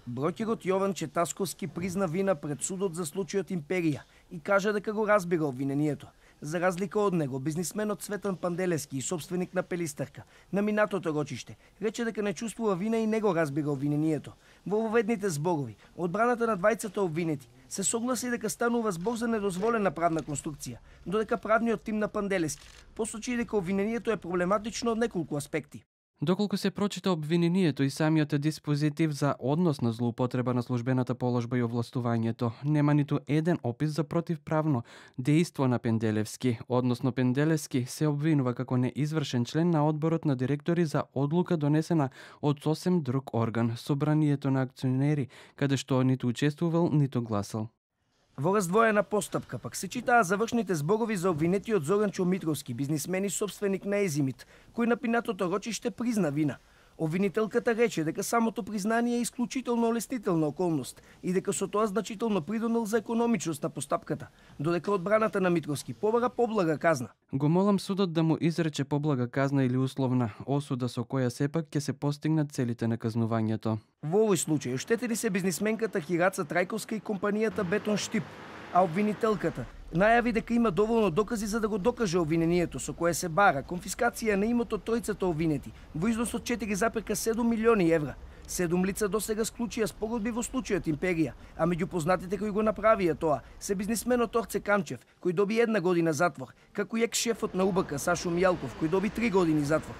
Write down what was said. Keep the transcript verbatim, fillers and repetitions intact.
Брокерот Јован Четасковски призна вина пред судот за случајот Империја и кажа дека го разбира обвинението. За разлика од него, бизнисменот Цветан Панделевски и собственик на Пелистарка на минатото рочиште рече дека не чувствува вина и не го разбира обвинението. Во воведните зборови, одбраната на двајцата обвинети се согласи дека станува збор за недозволена правна конструкција, додека правниот тим на Панделевски посочи дека обвинението е проблематично од неколку аспекти. Доколку се прочита обвинението и самиот диспозитив за однос на злоупотреба на службената положба и овластувањето, нема ниту еден опис за противправно дејство на Пенделевски, односно Пенделевски се обвинува како неизвршен член на одборот на директори за одлука донесена од сосем друг орган, собранието на акционери, каде што ниту учествувал, ниту гласал. Во раздвоена постапка пак се читаа завршните зборови за обвинетиот Зоран Чомитровски, бизнисмен и собственик на Езимит, кој на пинатото рочиште призна вина. Обвинителката рече дека самото признание е исклучително олеснителна околност и дека со тоа значително придонел за економичност на постапката, додека одбраната на Митровски побара поблага казна. Го молам судот да му изрече поблага казна или условна осуда со која сепак ќе се постигнат целите на казнувањето. Во овој случај оштетени се бизнисменката Хираца Трајковска и компанијата Бетон Штип, а обвинителката најави дека има доволно докази за да го докаже обвинението со кое се бара конфискација на имот од тројцата обвинети во износ од четири запирка седум милиони евра. Седум лица досега склучија спогодби во случајот Империја, а меѓу познатите кои го направија тоа се бизнисменот Орце Камчев, кој доби една година затвор, како и екс-шефот на УБК Сашо Мијалков, кој доби три години затвор.